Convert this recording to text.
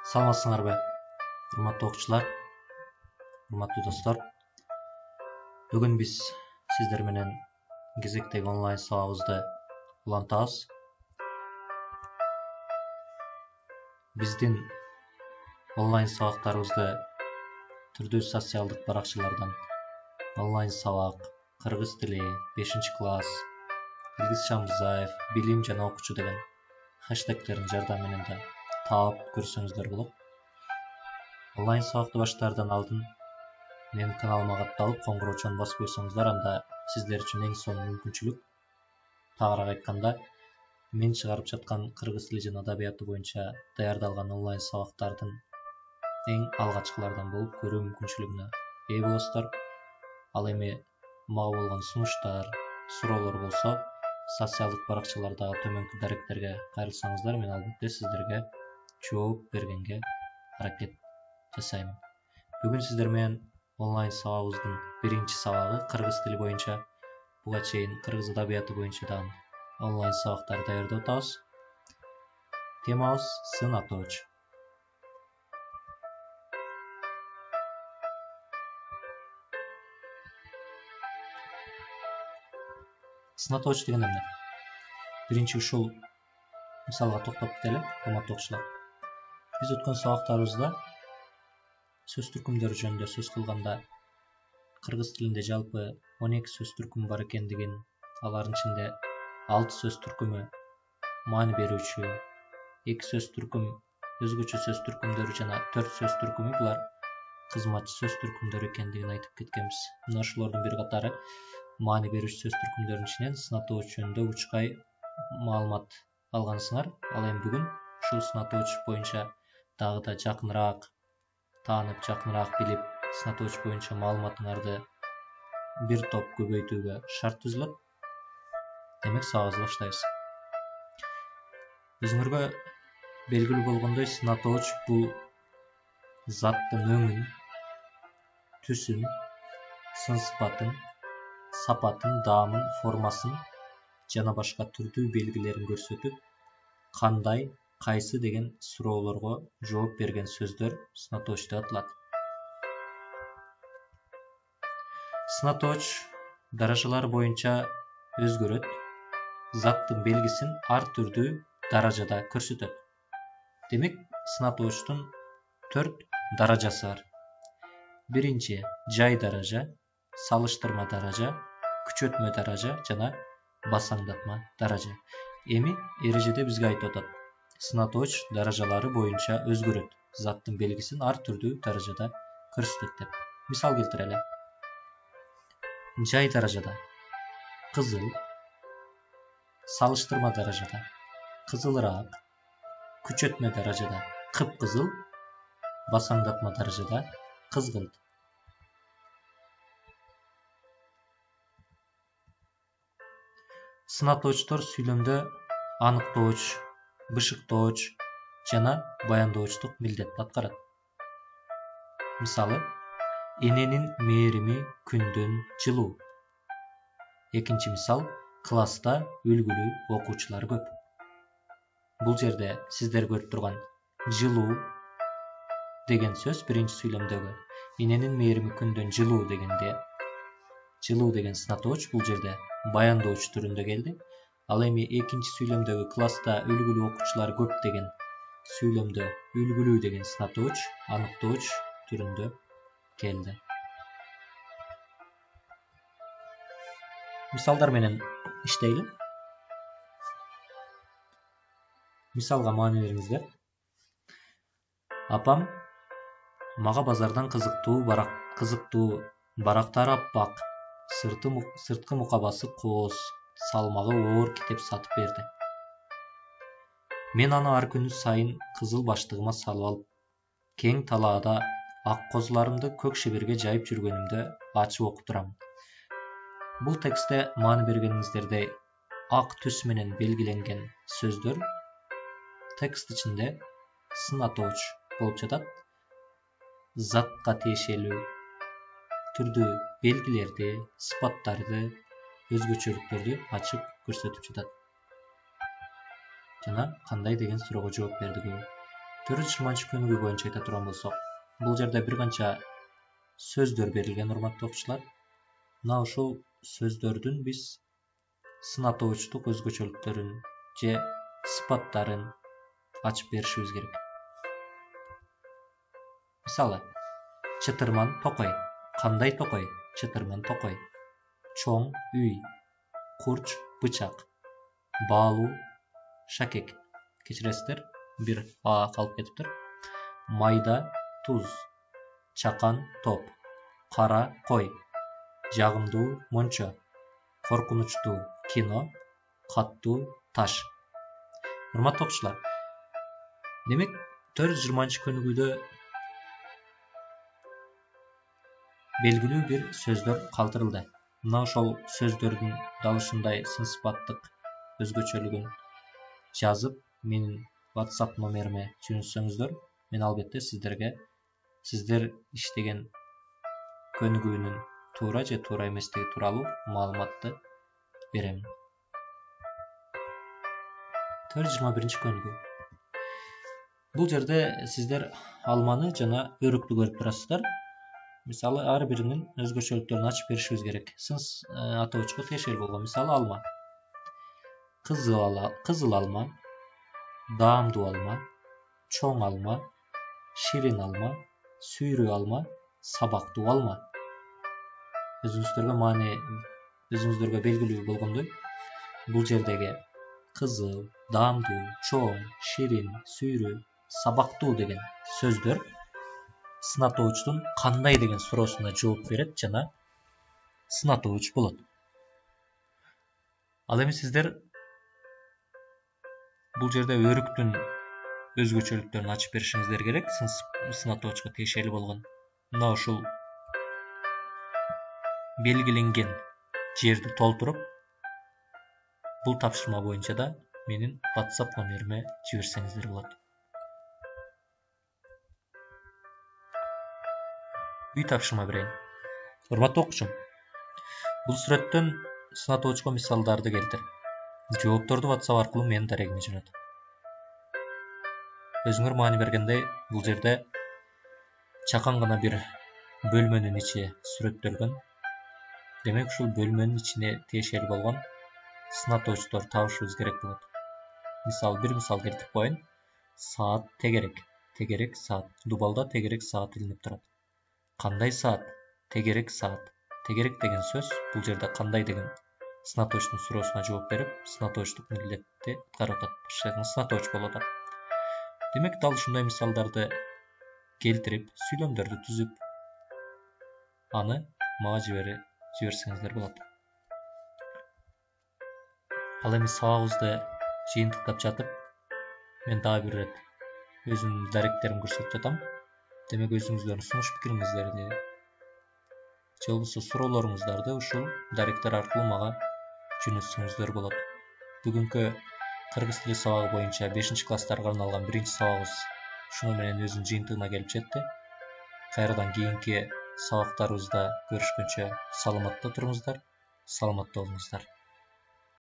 Саламатсыңарбы, урматтуу окуучулар, урматтуу достор. Бүгүн биз сиздер менен кезектеги онлайн сабагыбызды улантабыз. Биздин онлайн сабактарыбызды түрдүү социалдык баракчалардан онлайн сабак, кыргыз тили, 5-класс, Илгиз Шамбызаев, билим жана окуучу деген хэштегтердин жардамы менен да таап көрсөңүздөр болот. Онлайн сабакты баштаардан алдын менин каналыма катталып, коңгуроочуну басып койсоңуздар, анда сиздер үчүн эң сонун мүмкүнчүлүк. Тагыраак айтканда, мен чыгарып жаткан кыргыз тили жана адабияты боюнча даярдалган онлайн сабактардын эң алгачкылардан болуп көрүү мүмкүнчүлүгүнө ээ болосуздар. Ал эми мага болгон сунуштар, суроолор болсо, социалдык баракчалардагы төмөнкү даректерге кайрылсаңыздар, мен албетте сиздерге жооп бергенге аракет жасайм. Бүгүн сиздер менен онлайн сабагыбыздын биринчи сабагы кыргыз тили боюнча, буга чейин кыргыз адабияты боюнча дагы онлайн сабактар даярдап атабыз. Темабыз сын атооч. Сын атооч деген эмне? Биринчи ушул мисалга токтоп кетели, урматтуу окуучулар. Биз өткөн сабактарыбызда сөз түркүмдөрү жөнүндө сөз кылганда кыргыз тилинде жалпы 12 сөз түркүмү бар экендигин, алардын ичинде 6 сөз түркүмү маани берүүчү, 2 сөз түркүм өзгөчө сөз түркүмдөрү жана 4 сөз түркүмү булар кызматчы сөз түркүмдөрү экендигин айтып кеткенбиз. Мына ошолордун бир катары маани берүүчү сөз түркүмдөрүнүн ичинен сын атооч жөнүндө учкай маалымат алгансыңар. Ал эми бүгүн ушул сын атооч боюнча дагы да жакыныраак таанып, жакыныраак билип, сын атооч боюнча маалыматыңарды бир топ көбөйтүүгө шарт түзүлөт. Демек, сабагыбызды баштайбыз. Өзүңөргө белгилүү болгондой, сын атооч бул заттын өңүн, түсүн, сын сыпатын, сапатын, даамын, формасын жана башка түрдүү белгилерин көрсөтүп, кандай, кайсы деген суроолорго жооп берген сөздөр сын атооч деп аталат. Сын атооч даражалары боюнча өзгөрөт, заттын белгисин ар түрдүү даражада көрсөтөт. Демек, сын атоочтун 4 даражасы бар. Биринчи жай даража, салыштырма даража, күчөтмө даража жана басаңдатма даража. Эми эрежеде бизге айтып атат: сын атооч даражалары боюнча өзгөрөт, заттын белгисин ар түрдүү даражада көрсөтөт деп. Мисал келтирели. Жай даражада кызыл, салыштырма даражада кызылыраак, күчөтмө даражада кыпкызыл, басаңдатма даражада кызгылт. Сын атоочтор сүйлөмдө аныктооч, бышыктооч жана баяндоочтук милдет аткарат. Мисалы, эненин мээрими күндөн жылуу. Экинчи мисал, класста үлгүлүү окуучулар көп. Бул жерде сиздер көрүп турган жылуу деген сөз биринчи сүйлөмдөгү эненин мээрими күндөн жылуу дегенде, жылуу деген сын атооч бул жерде баяндооч түрүндө келди. Ал эми экинчи сүйлөмдөгү класста үлгүлүү окуучулар көп деген сүйлөмдө үлгүлүү деген сын атооч аныктооч түрүндө келди. Мисалдар менен иштейли. Мисалга маани бериңиздер. Апам мага базардан кызыктуу барактары аппак, сырткы мукабасы кооз, салмагы оор китеп сатып берди. Мен аны ар күнү сайын кызыл баштыгыма салып алып, кең талаада ак козуларымды көк шеберге жайып жүргөнүмдө ачып окуп турам. Бул текстте маани бергениңиздердей ак түс менен белгиленген сөздөр текст ичинде сын атооч болуп жатат. Затка тиешелүү түрдүү белгилерди, сыпаттарды, өзгөчөлүктөрдү ачып көрсөтүп жатат. Жана кандай деген суроого жооп бердиги 420-күнүгү боюнча айта турган болсок, бул жерде бир канча сөздөр берилген, урматтуу окуучулар. Мына ушул сөздөрдүн биз сынатоочтук өзгөчөлүктөрүн же сыпаттарын ачып беришибиз керек. Мисалы, чытырман токой. Кандай токой? Чытырман токой. Чоң үй. Курч бычак. Баалуу шакек. Кечиресиздер, бир а калып кетиптир. Майда туз. Чакан топ. Кара кой. Жагымдуу мончо. Коркунучтуу кино. Каттуу таш. Урматтуу окуучулар, демек 420-күнүгүдө белгилүү бир сөздөр калтырылды. Мына ошол сөздөрдүн дал ушундай сын сыпаттык өзгөчөлүгүн жазып, менин WhatsApp номериме жөнөтсөңүздөр, мен албетте сиздер иштеген көнүгүүнүн туура же туура эместиги тууралуу маалыматты берем. 421-көнүгүү. Бул жерде сиздер алманы жана өрүктү көрүп турасыздар. Мисалы, ар биринин өзгөчөлүктөрүн ачып беришибиз керек. Сын атоочуга тиешелүү болгон. Мисалы, алма. Кызыл алма, даамдуу алма, чоң алма, ширин алма, сүйрүү алма, сабактуу алма. Өзүңүздөргө белгилүү болгондой, бул жердеги кызыл, даамдуу, чоң, ширин, сүйрүү, сабактуу деген сөздөр сынатоочтун кандай деген суроосуна жооп берет жана сынатооч болот. Ал эми сиздер бул жерде өрүктүн өзгөчөлүктөрүн ачып беришиңиздер керек, сынатоочко тиешелүү болгон. Мына ушул белгиленген жерди толтуруп, бул тапшырма боюнча да менин WhatsApp номериме жиберсеңиздер болот. Үй тапшырма берейин. Урматтуу окуучум, бул сүрөттөн сынатоочко мисалдарды келтир. Жоопторду WhatsApp аркылуу менин дарегиме жөнөт. Өзүңөр маани бергендей, бул жерде чакан гана бир бөлмөнүн ичи сүрөттөлгөн. Демек, ушул бөлмөнүн ичине тиешелүү болгон сынатоочтор табышыбыз керек болот. Бир мисал келтирип коеюн. Саат тегерек. Тегерек саат. Дубалда тегерек саат илинип турат. Кандай саат? Тегерек саат. Тегерек деген сөз бул жерде кандай деген сынатоочтун суроосуна жооп берип, сынатоочтук милдетти аткарып атат. Сынатооч болуп атат. Демек, дал ушундай мисалдарды келтирип, сүйлөмдөрдү түзүп, аны мага жиберсеңиздер болот. Ал эми сабагыбызды жыйынтыктап жатып, мен дагы бир ирет өзүмдүн даректеримди көрсөтүп жатам. Демек, өзүңүздөрдүн сунуш пикириңиздерди же болбосо суроолоруңуздарды ушул даректер аркылуу мага жөнөтсөңүздөр болот. Бүгүнкү кыргыз тили сабагы боюнча 5-класстарга арналган 1-сабагыбыз ушуну менен өзүнүн жыйынтыгына келип жетти. Кайрадан кийинки сабактарыбызда көрүшкөнчө саламатта туруңуздар, саламатта болуңуздар.